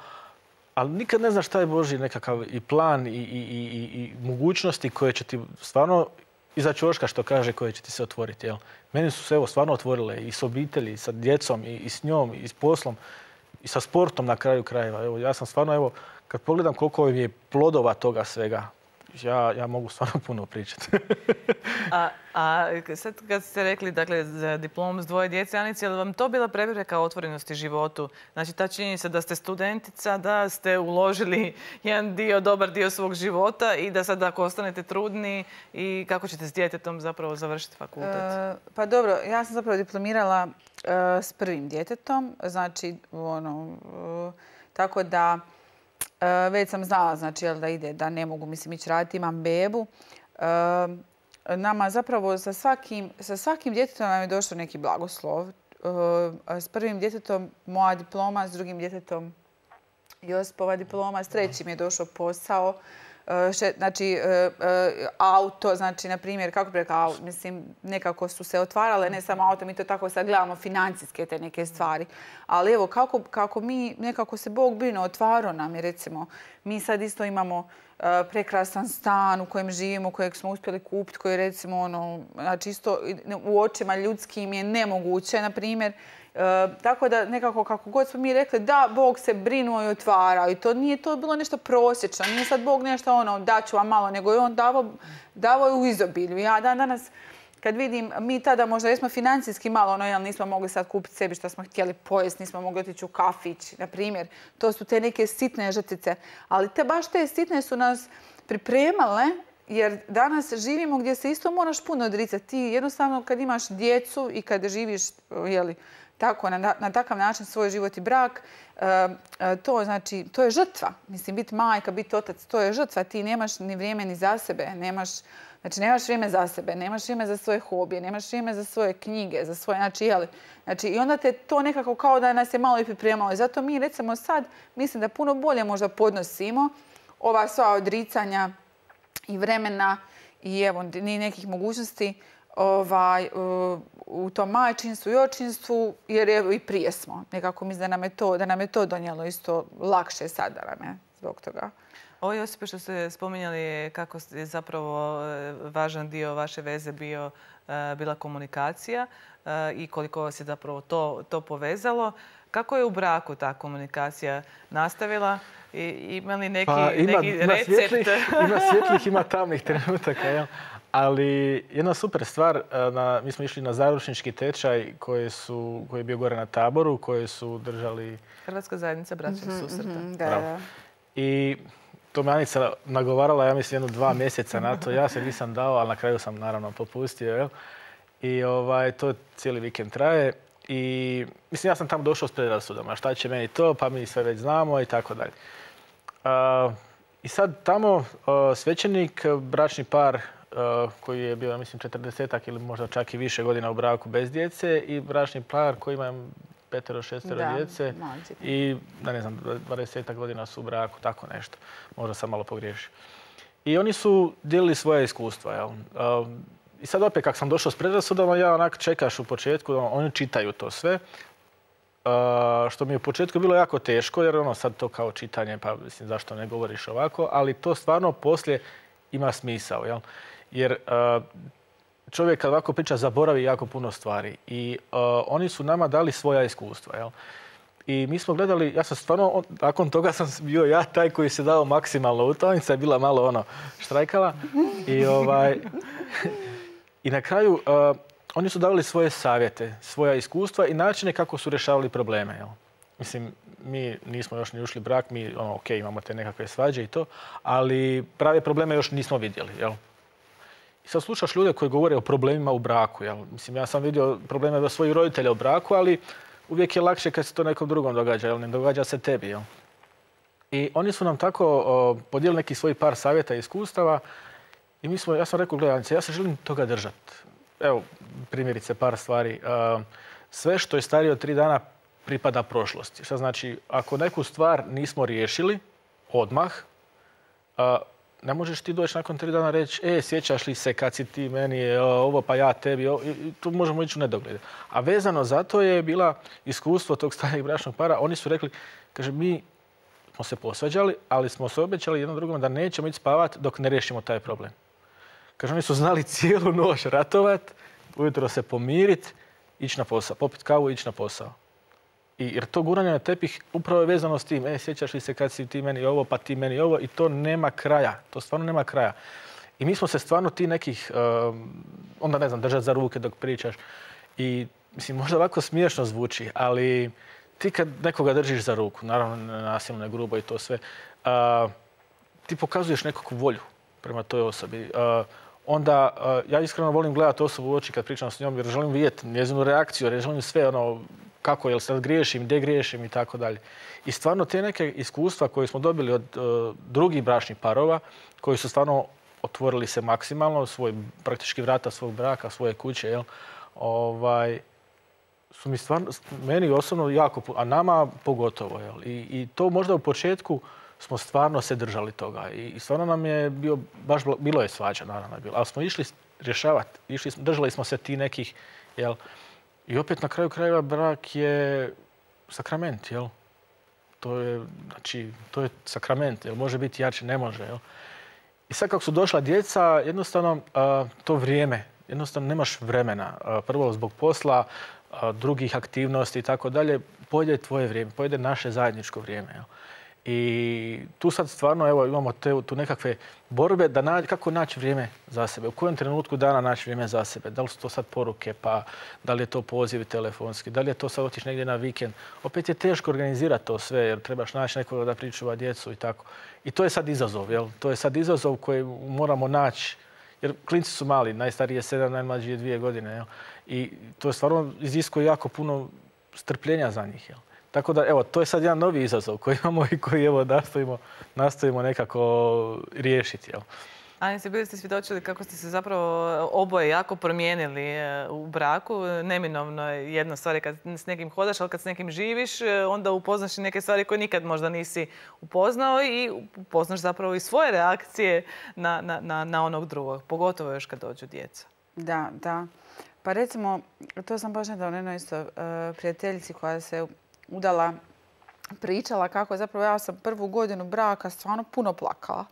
Ali nikad ne znaš šta je Božji nekakav i plan i, i, i, i mogućnosti koje će ti stvarno iza ćoška, što kaže, koje će ti se otvoriti. Jel? Meni su se evo stvarno otvorile i s obitelji, i sa djecom, i, i s njom, i s poslom, i sa sportom na kraju krajeva. Evo, ja sam stvarno, evo, kad pogledam koliko je plodova toga svega, ja, ja mogu stvarno puno pričati. a, a sad kad ste rekli, dakle, za diplom s dvoje djece, Anice, je li vam to bila prepreka otvorenosti životu? Znači, ta činjenica da ste studentica, da ste uložili jedan dio, dobar dio svog života i da sad ako ostanete trudni i kako ćete s djetetom zapravo završiti fakultet? E, pa dobro, ja sam zapravo diplomirala e, s prvim djetetom, znači, ono, e, tako da e, već sam znala, znači, jel, da ide, da ne mogu, mislim, ići raditi, imam bebu. E, Nama zapravo sa svakim, sa svakim djetetom nam je došao neki blagoslov. S prvim djetetom moja diploma, s drugim djetetom Josipova diploma, s trećim je došao posao. Znači, auto, znači, na primjer, kako bi rekao, mislim, nekako su se otvarale, ne samo auto, mi to tako sad gledamo, financijske te neke stvari. Ali evo, kako, kako mi, nekako se Bog brine, otvarao nam je, recimo, mi sad isto imamo prekrasan stan u kojem živimo, kojeg smo uspjeli kupiti, koji recimo, ono, znači isto u očima ljudskim je nemoguće, na primjer. E, tako da nekako kako god smo mi rekli da Bog se brinuo i otvarao i to nije to bilo nešto prosječno. Nije sad Bog nešto ono daću vam malo, nego je on davao, davao u izobilju. Ja dan danas kad vidim, mi tada možda jesmo financijski malo, ono, jel nismo mogli sad kupiti sebi što smo htjeli pojesti, nismo mogli otići u kafić, na primjer. To su te neke sitne žrtice. Ali te baš te sitne su nas pripremale, jer danas živimo gdje se isto moraš puno odricati. Ti jednostavno kad imaš djecu i kad živiš, jeli, tako, na, na takav način svoj život i brak, e, to, znači, to je žrtva. Mislim, biti majka, biti otac, to je žrtva. Ti nemaš ni vrijeme ni za sebe, nemaš, znači, nemaš vrijeme za sebe, nemaš vrijeme za svoje hobije, nemaš vrijeme za svoje knjige, za svoje, znači, jeli, znači, i onda te to nekako kao da nas je malo i pripremalo. I zato mi, recimo, sad, mislim da puno bolje možda podnosimo ova sva odricanja i vremena i evo, ni nekih mogućnosti ovaj, u tom majčinstvu i očinstvu, jer evo i prije smo. Nekako mislim da nam je to, da nam je to donijelo isto lakše sad da nam je zbog toga. Ovo, Josipe, što ste spominjali je kako je zapravo važan dio vaše veze bio, bila komunikacija i koliko vas je zapravo to, to povezalo. Kako je u braku ta komunikacija nastavila? I, ima li neki, pa, ima, neki ima recept? Svjetlih, ima svjetlih, ima tamnih trenutaka. Ja. Ali jedna super stvar, na, mi smo išli na zaručnički tečaj koji, su, koji je bio gore na Taboru, koji su držali... Hrvatska zajednica bračnih mm-hmm, susreta. Mm-hmm, da, da. I to me Anica nagovarala, ja mislim, jedno dva mjeseca na to. Ja se nisam dao, ali na kraju sam naravno popustio. Jel? I ovaj, to cijeli vikend traje. I mislim, ja sam tamo došao s predrasudama. Šta će meni to, pa mi sve već znamo i tako dalje. I sad tamo svećenik, bračni par koji je bio, mislim, četrdesetak ili možda čak i više godina u braku bez djece i bračni par koji ima petero, šestero da, djece i, da ne znam, dvadesetak godina su u braku, tako nešto. Možda sam malo pogriješio. I oni su dijelili svoje iskustva, jel? I sad opet, kako sam došao s predrasudama, ja onak čekaš u početku, oni čitaju to sve. Uh, što mi je u početku bilo jako teško, jer ono sad to kao čitanje, pa mislim zašto ne govoriš ovako, ali to stvarno poslije ima smisao, jel? Jer uh, čovjek kad ovako priča zaboravi jako puno stvari i uh, oni su nama dali svoja iskustva, jel? I mi smo gledali, ja sam stvarno, nakon toga sam bio ja taj koji se dao maksimalno. Utakmica je bila malo ono štrajkala. I, ovaj, i na kraju uh, oni su davali svoje savjete, svoja iskustva i načine kako su rješavali probleme. Jel? Mislim, mi nismo još ni ušli brak, mi ono, ok, imamo te nekakve svađe i to, ali prave probleme još nismo vidjeli. Jel? I sad slušaš ljude koji govore o problemima u braku. Jel? Mislim, ja sam vidio probleme svojih roditelja u braku, ali uvijek je lakše kad se to nekom drugom događa, jel? Ne događa se tebi. Jel? I oni su nam tako o, podijelili neki svoj par savjeta i iskustava i mi smo, ja sam rekao, gledajte, ja se želim toga držati. Evo, primjerice par stvari. Uh, sve što je starije od tri dana pripada prošlosti. Što znači, ako neku stvar nismo riješili odmah, uh, ne možeš ti doći nakon tri dana reći, e, sjećaš li se kad si ti meni, ovo pa ja tebi, ovo, i tu možemo ići u nedogled. A vezano za to je bila iskustvo tog starijeg bračnog para. Oni su rekli, kaže, mi smo se posvađali, ali smo se obećali jednom drugom da nećemo ići spavati dok ne riješimo taj problem. Kaže, oni su znali cijelu noć ratovat, ujutro se pomirit, ići na posao, popit kavu i ići na posao. I, jer to guranje na tepih upravo je vezano s tim. E, sjećaš li se kad si ti meni ovo, pa ti meni ovo, i to nema kraja. To stvarno nema kraja. I mi smo se stvarno ti nekih, um, onda ne znam, držati za ruke dok pričaš. I mislim, možda ovako smiješno zvuči, ali ti kad nekoga držiš za ruku, naravno nasilno, ne grubo i to sve, uh, ti pokazuješ nekakvu volju prema toj osobi. Uh, onda uh, ja iskreno volim gledati osobu u oči kad pričam s njom jer želim vidjeti njezinu reakciju, jer želim sve ono, kako, jel sad griješim, gdje griješim i tako dalje. I stvarno te neke iskustva koje smo dobili od uh, drugih bračnih parova, koji su stvarno otvorili se maksimalno, svoj, praktički vrata svog braka, svoje kuće, jel, ovaj, su mi stvarno, meni osobno jako, a nama pogotovo. Jel, i, i to možda u početku smo stvarno se držali toga. I, i stvarno nam je bio, baš bilo je svađa, naravno je bilo, ali smo išli rješavati, išli, držali smo se ti nekih, jel, i opet na kraju krajeva brak je sakrament, jel? To je, znači, to je sakrament, jel? Može biti jače, ne može, jel? I sad kako su došla djeca, jednostavno a, to vrijeme, jednostavno nemaš vremena. A, prvo zbog posla, a, drugih aktivnosti i tako dalje, pojede tvoje vrijeme, pojede naše zajedničko vrijeme, jel? I tu sad stvarno evo, imamo te, tu nekakve borbe da nađi, kako naći vrijeme za sebe, u kojem trenutku dana naći vrijeme za sebe. Da li su to sad poruke, pa da li je to pozivi telefonski, da li je to sad otići negdje na vikend. Opet je teško organizirati to sve jer trebaš naći nekoga da pričuva djecu i tako. I to je sad izazov, jel? To je sad izazov koji moramo naći, jer klinci su mali, najstariji je sedam, najmlađi je dvije godine, jel? I to je stvarno iziskuje jako puno strpljenja za njih, jel? Tako da, evo, to je sad jedan novi izazov koji imamo i koji, evo, nastojimo, nastojimo nekako riješiti, jel? Anice, bili ste svjedočili kako ste se zapravo oboje jako promijenili u braku. Neminovno je jedna stvar kad s nekim hodaš, ali kad s nekim živiš, onda upoznaš i neke stvari koje nikad možda nisi upoznao i upoznaš zapravo i svoje reakcije na, na, na, na onog drugog, pogotovo još kad dođu djeca. Da, da. Pa recimo, to sam baš nedavno jednoj isto uh, prijateljici koja se udala, pričala kako zapravo ja sam prvu godinu braka stvarno puno plakala.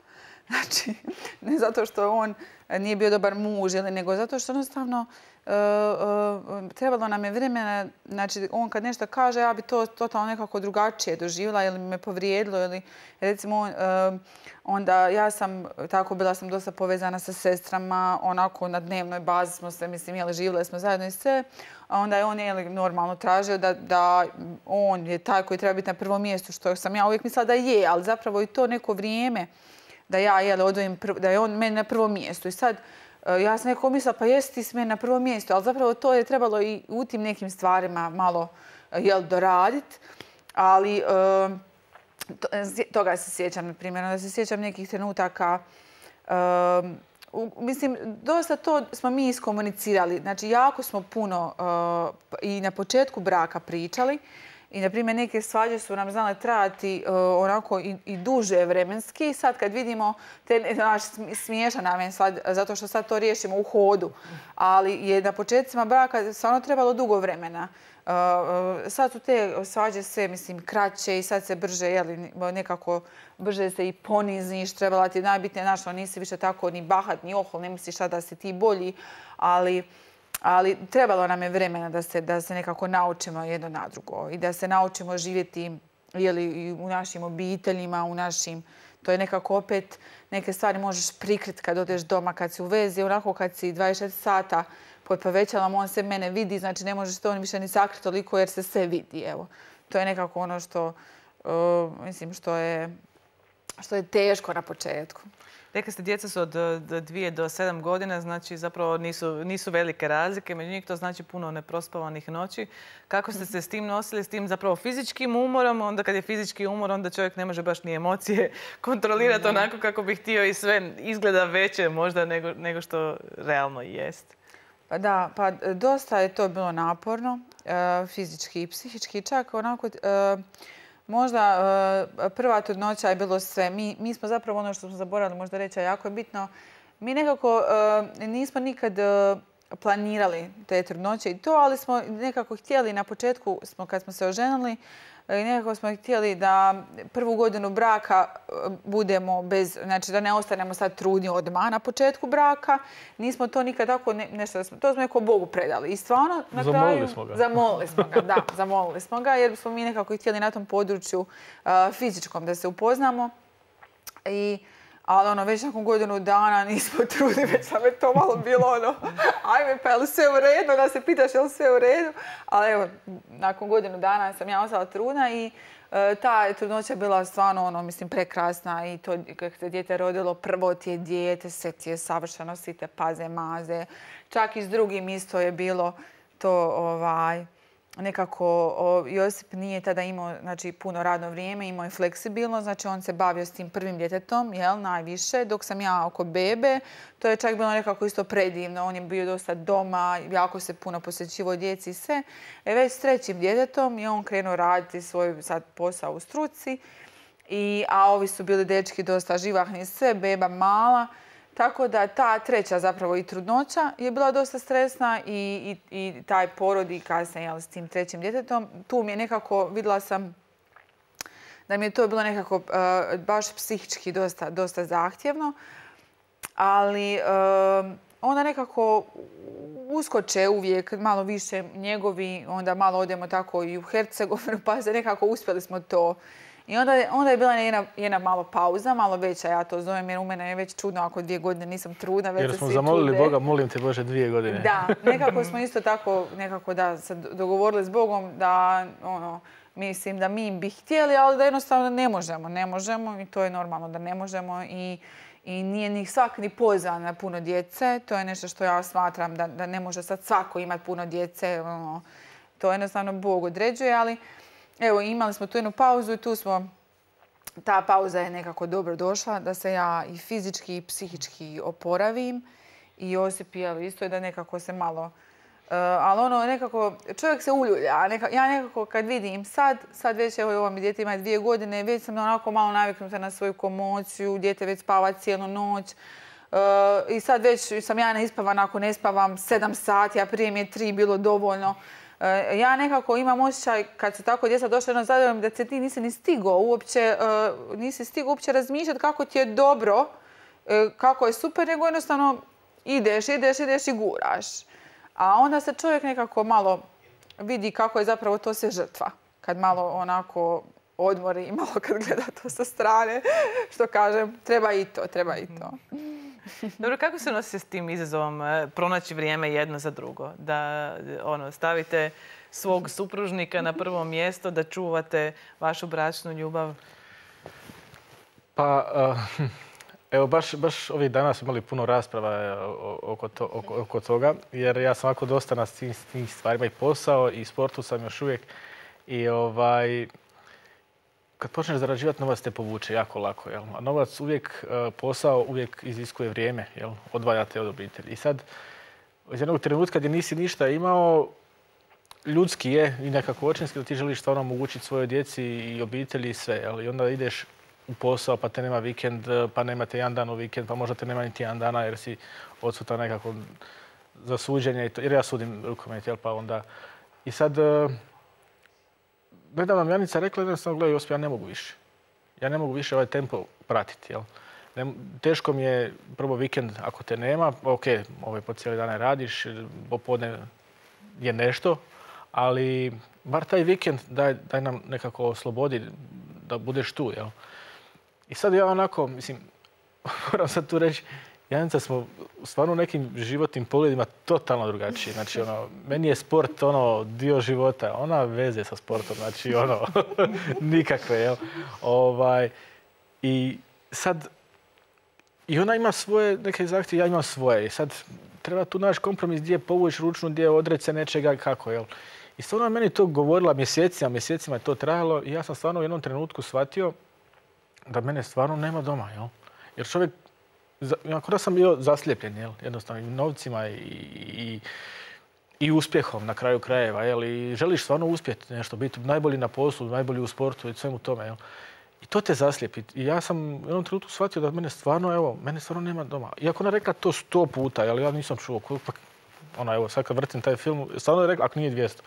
Znači, ne zato što on nije bio dobar muž, ili, nego zato što jednostavno uh, uh, trebalo nam je vremena. Znači, on kad nešto kaže, ja bi to totalno nekako drugačije doživjela ili me povrijedilo. Ili, recimo, uh, onda ja sam, tako bila sam dosta povezana sa sestrama, onako na dnevnoj bazi smo se, mislim, jeli, živjeli smo zajedno i sve. A onda je on jeli, normalno tražio da, da on je taj koji treba biti na prvom mjestu, što sam ja uvijek mislila da je, ali zapravo i to neko vrijeme da ja jeli, odvojim, da je on meni na prvom mjestu. I sad ja sam nekako mislila, pa jesi ti s meni na prvom mjestu, ali zapravo to je trebalo i u tim nekim stvarima malo jel, doraditi. Ali to, toga se sjećam, na primjer, da se sjećam nekih trenutaka. Um, Mislim, dosta to smo mi iskomunicirali. Znači, jako smo puno uh, i na početku braka pričali. I, na primjer, neke svađe su nam znale trajati uh, onako i, i duže vremenski. Sad kad vidimo, te, znaš, smiješan nam je sad, zato što sad to riješimo u hodu. Ali je na početcima braka stvarno trebalo dugo vremena. Uh, sad su te svađe sve, mislim, kraće i sad se brže, jeli, nekako brže se i poniziš, trebala ti najbitnije, znaš, nisi više tako ni bahat, ni ohol, ne misliš sad da si ti bolji, ali Ali trebalo nam je vremena da se, da se nekako naučimo jedno na drugo i da se naučimo živjeti jeli, u našim obiteljima, u našim... To je nekako opet, neke stvari možeš prikriti kad odeš doma, kad si u vezi, onako kad si dvadeset četiri sata pod povećalom, on se mene vidi, znači ne možeš to više ni sakriti toliko jer se sve vidi, evo. To je nekako ono što, uh, mislim, što je, što je teško na početku. Rekli ste, djeca su od dvije do sedam godina, znači zapravo nisu, nisu velike razlike. Među njih to znači puno neprospavanih noći. Kako ste se s tim nosili, s tim zapravo fizičkim umorom? Onda kad je fizički umor, onda čovjek ne može baš ni emocije kontrolirati onako kako bi htio i sve izgleda veće možda nego, nego što realno i jest. Pa da, pa dosta je to bilo naporno, fizički i psihički. Čak onako... Možda prva trudnoća je bilo sve. Mi, mi smo zapravo ono što smo zaboravili možda reći, a jako je bitno. Mi nekako nismo nikad planirali te trudnoće i to, ali smo nekako htjeli na početku, smo, kad smo se oženili, nekako smo htjeli da prvu godinu braka budemo bez, znači da ne ostanemo sad trudni odmah na početku braka. Nismo to nikad tako, ne, nešto, to smo neko Bogu predali. I stvarno na kraju... Zamolili smo ga. Zamolili smo ga, da, zamolili smo ga jer smo mi nekako htjeli na tom području uh, fizičkom da se upoznamo. I, ali ono, već nakon godinu dana nismo trudni, već sam je to malo bilo ono, ajme pa je li sve u redu, da se pitaš je li sve u redu. Ali evo, nakon godinu dana sam ja ostala trudna i e, ta trudnoća je bila stvarno ono, mislim, prekrasna i to kako se dijete rodilo, prvo ti je dijete, sve ti je savršeno, svi te paze, maze. Čak i s drugim isto je bilo to ovaj... Nekako o, Josip nije tada imao znači, puno radno vrijeme, imao je fleksibilno, znači on se bavio s tim prvim djetetom, jel, najviše, dok sam ja oko bebe. To je čak bilo nekako isto predivno, on je bio dosta doma, jako se puno posjećivao djeci i sve. E, već s trećim djetetom je on krenuo raditi svoj sad posao u struci, i, a ovi su bili dečki dosta živahni sve, beba mala. Tako da ta treća zapravo i trudnoća je bila dosta stresna i, i, i taj porod i kasnije jel, s tim trećim djetetom. Tu mi je nekako, vidjela sam da mi je to bilo nekako uh, baš psihički dosta, dosta zahtjevno. Ali uh, onda nekako uskoče uvijek malo više njegovi, onda malo odemo tako i u Hercegovinu, pa se nekako uspjeli smo to. I onda, onda je bila jedna, jedna malo pauza, malo veća, ja to zovem, jer u mene je već čudno ako dvije godine nisam trudna, već se svi čude. Jer smo zamolili Boga, molim te Bože, dvije godine. Da, nekako smo isto tako nekako da se dogovorili s Bogom da, ono, mislim da mi bi htjeli, ali da jednostavno ne možemo, ne možemo i to je normalno da ne možemo i, i nije ni svak ni pozvan na puno djece. To je nešto što ja smatram da, da ne može sad svako imati puno djece, ono, to jednostavno Bog određuje, ali evo, imali smo tu jednu pauzu i tu smo, ta pauza je nekako dobro došla, da se ja i fizički i psihički oporavim. I Josip je isto da nekako se malo, uh, ali ono nekako, čovjek se uljulja. Neka, ja nekako kad vidim sad, sad već evo ovo mi dijete ima dvije godine, već sam onako malo naviknuta na svoju komociju, dijete već spava cijelu noć. Uh, I sad već sam ja neispavana ako ne spavam sedam sati, a prije mi je tri bilo dovoljno. Ja nekako imam osjećaj, kad su tako djeca došla jedno zadovoljno, da se ti nisi ni stigao uopće, uh, nisi stigao uopće razmišljati kako ti je dobro, uh, kako je super, nego jednostavno ideš, ideš, ideš i guraš. A onda se čovjek nekako malo vidi kako je zapravo to sve žrtva. Kad malo onako odmori i malo kad gleda to sa strane, što kažem, treba i to, treba i to. Dobro, kako se nosite s tim izazovom pronaći vrijeme jedno za drugo? Da ono, stavite svog supružnika na prvo mjesto, da čuvate vašu bračnu ljubav? Pa, uh, evo, baš, baš ovih dana smo imali puno rasprava oko, to, oko, oko toga, jer ja sam ovako dosta na tim, tim stvarima i posao i sportu sam još uvijek. I ovaj... Kad počneš zarađivati, novac te povuče jako lako. Jel? A novac uvijek, posao uvijek iziskuje vrijeme, jel? Odvajate od obitelji. I sad, iz jednog trenutka gdje nisi ništa imao, ljudski je i nekako očinski da ti želiš stvarno omogućiti svojoj djeci i obitelji i sve. Jel? I onda ideš u posao, pa te nema vikend, pa nemate jedan dan u vikend, pa možda te nema niti jedan dana jer si odsutan nekako za suđenje. Jer ja sudim rukomet, jel? Pa onda... I sad... Nedavno nam Janica rekla jednostavno, gledaj Josip, ja ne mogu više. Ja ne mogu više ovaj tempo pratiti, jel? Teško mi je prvo vikend ako te nema, ok, ovaj po cijeli dane radiš, popodne je nešto, ali bar taj vikend daj, daj nam nekako oslobodi da budeš tu, jel? I sad ja onako, mislim, moram sad tu reći, Janica smo stvarno u nekim životnim pogledima totalno drugačiji. Znači, ono, meni je sport ono dio života, ona veze sa sportom, znači ono, nikakve, jel? Ovaj, i sad, i ona ima svoje neke zahtjeve, ja imam svoje. I sad treba tu naći kompromis gdje povući ručnu, gdje odreći se nečega kako, jel? I stvarno meni to govorila mjesecima, mjesecima je to trajalo i ja sam stvarno u jednom trenutku shvatio da mene stvarno nema doma, jel? Jer čovjek, ako da sam bio zaslijepljen, jel? Jednostavno i novcima i, i, i uspjehom na kraju krajeva, jel? I želiš stvarno uspjeti nešto, biti najbolji na poslu, najbolji u sportu i svemu tome, jel? I to te zaslijepi. I ja sam u jednom trenutku shvatio da mene stvarno, evo, mene stvarno nema doma. Iako ona rekla to sto puta, jel? Ja nisam čuo. Ona, evo, sad kad vrtim taj film, stvarno je rekla, ako nije dvjesto.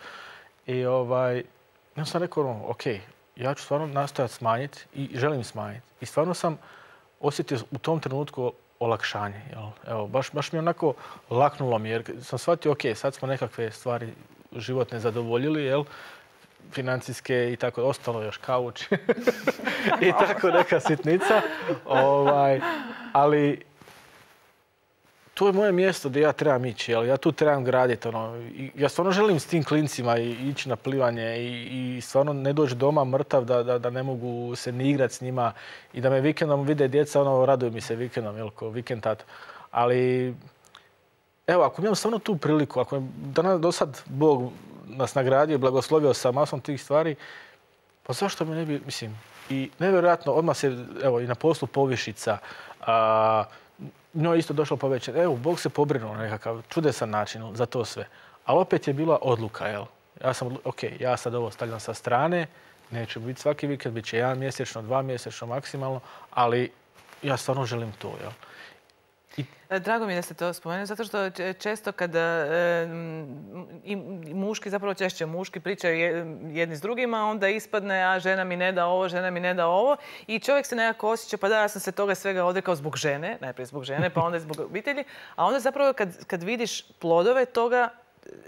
I ovaj, ja sam rekao, ono, ok, ja ću stvarno nastojati smanjiti i želim smanjiti. I stvarno sam osjetio u tom trenutku olakšanje. Jel? Evo, baš, baš mi je onako laknulo mi, jer sam shvatio, ok, sad smo nekakve stvari životne zadovoljili, jel? Financijske i tako, ostalo još kauč i tako neka sitnica. Ovaj, ali to je moje mjesto gdje ja trebam ići, jel? Ja tu trebam graditi. Ono, i ja stvarno želim s tim klincima i, ići na plivanje i, i stvarno ne doći doma mrtav da, da, da ne mogu se ni igrati s njima i da me vikendom vide djeca, ono, raduju mi se vikendom, jel, ko vikend tato. Ali, evo, ako imam stvarno tu priliku, ako je danas do sad Bog nas nagradio i blagoslovio sa masom tih stvari, pa zašto mi ne bi, mislim, i nevjerojatno, odmah se, evo, i na poslu povišica, a, njoj isto došlo povećan. Evo, Bog se pobrinuo na nekakav čudesan način za to sve. Ali opet je bila odluka, jel? Ja sam, ok, ja sad ovo stavljam sa strane, neće biti svaki vikend, bit će jedan mjesečno, dva mjesečno maksimalno, ali ja stvarno želim to, jel? Drago mi je da ste to spomenuli, zato što često kada e, i muški, zapravo češće muški pričaju jedni s drugima, onda ispadne, a žena mi ne da ovo, žena mi ne da ovo. I čovjek se nekako osjeća, pa da, ja sam se toga svega odrekao zbog žene, najprije zbog žene, pa onda i zbog obitelji. A onda zapravo kad, kad vidiš plodove toga,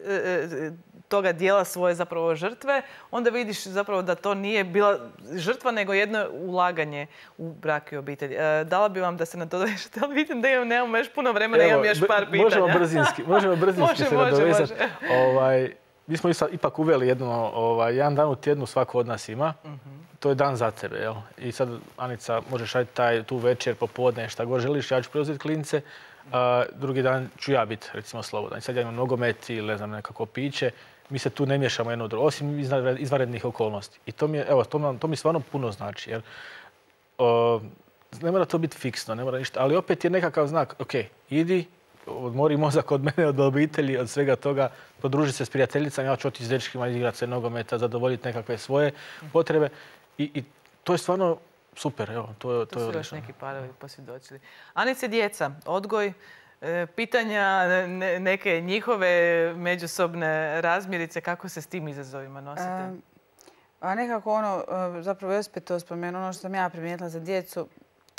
e, toga dijela svoje zapravo žrtve, onda vidiš zapravo da to nije bila žrtva, nego jedno ulaganje u brak i obitelj. E, dala bi vam da se nadovežete, ali vidim da imam, nemamo još puno vremena, imam još par pitanja. Možemo brzinski, možemo brzinski može, se može, nadovezati. Ovaj, mi smo ipak uveli jedno, ovaj, jedan dan u tjednu svako od nas ima. Uh-huh. To je dan za tebe, jel? I sad, Anica, možeš raditi taj, tu večer, popodne, šta god želiš, ja ću preuzeti klince. Uh, drugi dan ću ja biti, recimo, slobodan. I sad ja imam nogomet ili, ne znam, nekako piće. Mi se tu ne miješamo jedno drugo, osim izvanrednih okolnosti. I to mi, je, evo, to, to mi stvarno puno znači. Jer, uh, ne mora to biti fiksno, ne mora ništa, ali opet je nekakav znak. Ok, idi, odmori mozak od mene, od obitelji, od svega toga, podruži se s prijateljicama, ja ću otići s dečkima, igrati se nogometa, zadovoljiti nekakve svoje potrebe. I, i to je stvarno super. Evo, to, to, to je su odlično. još neki parovi posvjedočili. Anice, djeca, odgoj, pitanja, neke njihove međusobne razmirice, kako se s tim izazovima nosite? A nekako ono, zapravo Josip to spomenuo, ono što sam ja primijetila za djecu,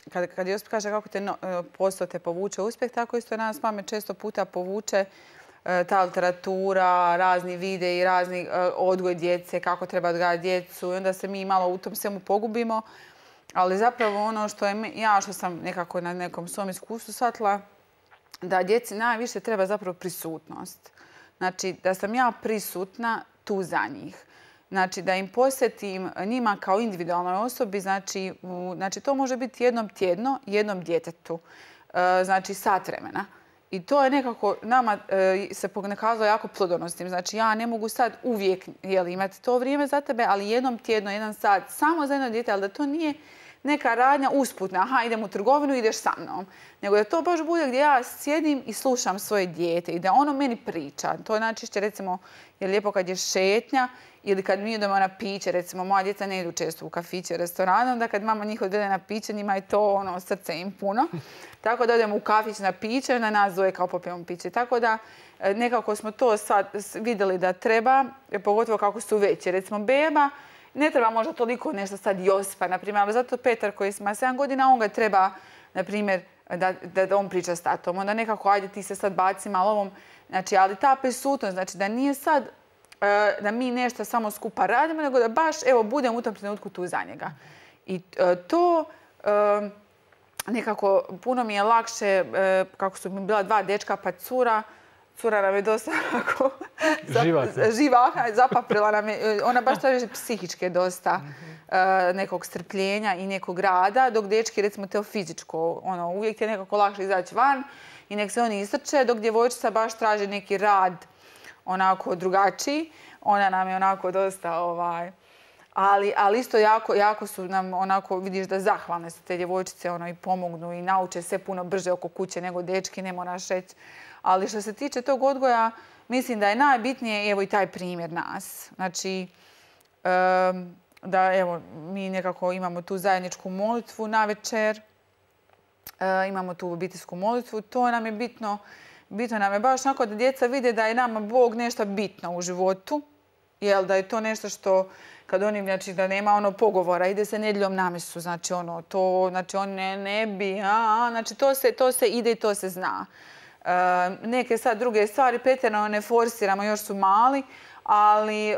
kad, kad Josip kaže kako te no, posao te povuče uspjeh, tako isto nas mame često puta povuče ta literatura, razni videi, razni odgoj djece, kako treba odgajati djecu i onda se mi malo u tom svemu pogubimo. Ali zapravo ono što je ja, što sam nekako na nekom svom iskustvu shvatila, da djeci najviše treba zapravo prisutnost. Znači, da sam ja prisutna tu za njih. Znači, da im posjetim njima kao individualnoj osobi, znači, u, znači to može biti jednom tjedno, jednom djetetu. E, znači, sat vremena. I to je nekako nama e, se pokazalo jako plodonosnim. Znači, ja ne mogu sad uvijek jeli, imati to vrijeme za tebe, ali jednom tjedno, jedan sat, samo za jedno dijete, ali da to nije neka radnja usputna, aha, idem u trgovinu, ideš sa mnom. Nego da to baš bude gdje ja sjedim i slušam svoje dijete i da ono meni priča. To je najčešće, recimo, je lijepo kad je šetnja ili kad mi idemo na piće. Recimo, moja djeca ne idu često u kafiće, restorane, onda kad mama njih odvede na piće, njima je to ono, srce im puno. Tako da odemo u kafić na piće, na nas zove kao popijemo piće. Tako da nekako smo to sad vidjeli da treba, pogotovo kako su veće. Recimo, beba ne treba možda toliko nešto sad Josipa, na primjer, ali zato Petar koji ima sedam godina, on ga treba na primjer, da, da on priča s tatom. Onda nekako, ajde ti se sad baci malo ovom. Znači, ali ta prisutnost, znači da nije sad da mi nešto samo skupa radimo, nego da baš, evo, budem u tom trenutku tu za njega. I to nekako puno mi je lakše, kako su mi bila dva dečka pa cura, cura nam je dosta onako živa, zapaprila nam je, ona baš traži psihičke dosta nekog strpljenja i nekog rada, dok dečki recimo to fizičko, ono, uvijek je nekako lakše izaći van i nek se oni istrče, dok djevojčica baš traži neki rad onako drugačiji. Ona nam je onako dosta, ovaj, ali, ali isto jako, jako su nam onako, vidiš da zahvalne su te djevojčice, ono, i pomognu i nauče sve puno brže oko kuće nego dečki, ne moraš reći. Ali što se tiče tog odgoja, mislim da je najbitnije, evo, i taj primjer nas. Znači, um, da, evo, mi nekako imamo tu zajedničku molitvu navečer, uh, imamo tu obiteljsku molitvu, to nam je bitno. Bitno nam je baš onako da djeca vide da je nama Bog nešto bitno u životu, jel, da je to nešto što, kad oni, znači, da nema ono pogovora, ide se nedjeljom na misu, znači, ono, to, znači, on ne, ne bi, a, a, znači, to se, to se ide i to se zna. E, neke sad druge stvari, pretjerano ne forsiramo, još su mali, ali, e,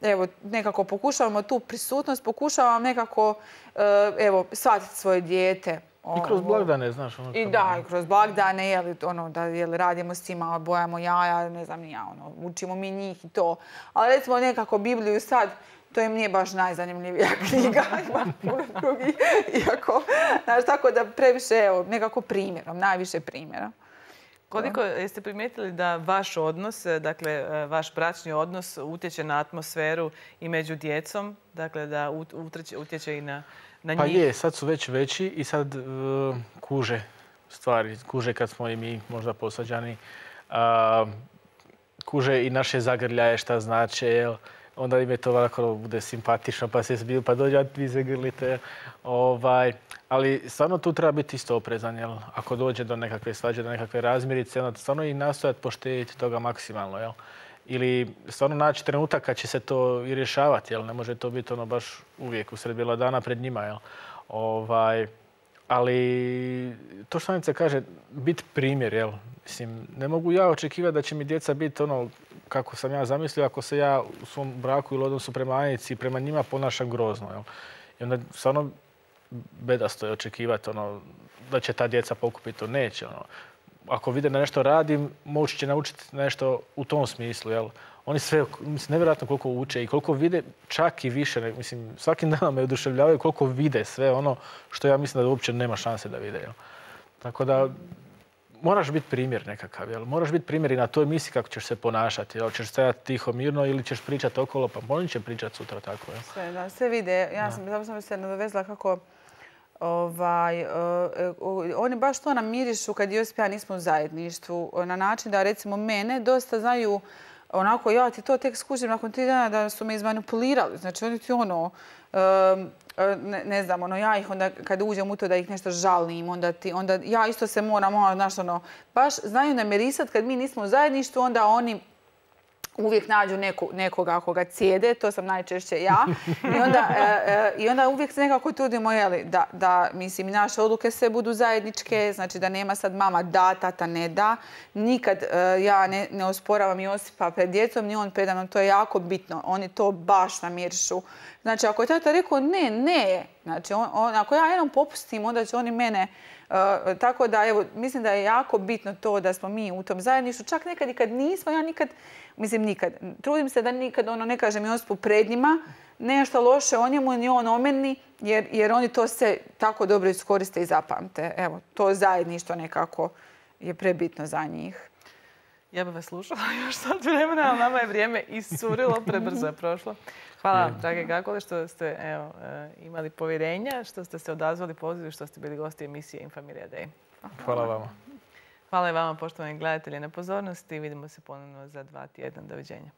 evo, nekako pokušavamo tu prisutnost, pokušavamo nekako, e, evo, shvatiti svoje dijete. I kroz blagdane, znaš. Ono, I da, i kroz blagdane, jel, ono, da jel, radimo s njima, bojamo jaja, ne znam ni ja, ono, učimo mi njih i to. Ali recimo nekako Bibliju sad, to im nije baš najzanimljivija knjiga, ima puno drugih, iako, znaš, tako da previše, evo, nekako primjerom, najviše primjera. Koliko jeste primijetili da vaš odnos, dakle, vaš bračni odnos utječe na atmosferu i među djecom, dakle, da utječe i na... Pa je, sad su već veći i sad uh, kuže stvari. Kuže kad smo i mi možda posađani. Uh, kuže i naše zagrljaje šta znače, jel? Onda im je to ovako bude simpatično, pa se zbiju, pa dođe, vi se grlite. Ovaj, ali stvarno tu treba biti isto oprezan, jel? Ako dođe do nekakve svađe, do nekakve razmirice, onda stvarno i nastojati poštediti toga maksimalno, jel? Ili stvarno naći trenutak kad će se to i rješavati, jel? Ne može to biti ono baš uvijek usred bijela dana pred njima, jel? Ovaj, ali to što Anica kaže, biti primjer, jel? Mislim, ne mogu ja očekivati da će mi djeca biti ono kako sam ja zamislio ako se ja u svom braku ili odnosu prema Anici i prema njima ponašam grozno, jel? I onda stvarno bedasto je očekivati ono, da će ta djeca pokupiti to. Neće, ono. Ako vide da nešto radim, moći će naučiti nešto u tom smislu, jel? Oni sve, mislim, nevjerojatno koliko uče i koliko vide, čak i više, mislim, svakim danom me oduševljavaju koliko vide sve ono što ja mislim da uopće nema šanse da vide, jel? Tako da, moraš biti primjer nekakav, jel? Moraš biti primjer i na toj misiji kako ćeš se ponašati, jel? Ćeš stajati tiho, mirno ili ćeš pričati okolo, pa oni će pričati sutra tako, jel? Sve, da, sve vide. Ja sam, da. sam se nadovezla kako Ovaj, uh, oni baš to nam mirišu kad Josip i ja nismo u zajedništvu. Na način da, recimo, mene dosta znaju onako, ja ti to tek skužim nakon tri dana da su me izmanipulirali. Znači, oni ti ono, uh, ne, ne znam, ono, ja ih onda, kad uđem u to da ih nešto žalim, onda ti, onda ja isto se moram, ono, znaš, ono, baš znaju namirisati kad mi nismo u zajedništvu, onda oni uvijek nađu neko, nekoga koga cijede, to sam najčešće ja. I onda, e, e, i onda uvijek se nekako trudimo, jeli, da, da, mislim, naše odluke sve budu zajedničke, znači da nema sad mama da, tata ne da. Nikad e, ja ne, ne osporavam Josipa pred djecom, ni on predavno, to je jako bitno. Oni to baš namirišu. Znači, ako je tata rekao ne, ne, znači, on, on, ako ja jednom popustim, onda će oni mene... Uh, tako da, evo, mislim da je jako bitno to da smo mi u tom zajedništvu. Čak nekad i kad nismo, ja nikad, mislim nikad, trudim se da nikad ono ne kažem Josipu pred njima nešto loše o njemu, ni on o meni, jer, jer oni to se tako dobro iskoriste i zapamte. Evo, to zajedništvo nekako je prebitno za njih. Ja bih vas slušala još sad vremena, ali nama je vrijeme iscurilo, prebrzo je prošlo. Hvala vam, drage Gagole, što ste evo, imali povjerenja, što ste se odazvali pozivu, što ste bili gosti emisije Infamilia Day. Hvala vama. Hvala i vama, poštovani gledatelji, na pozornosti. Vidimo se ponovno za dva tjedna. Doviđenja.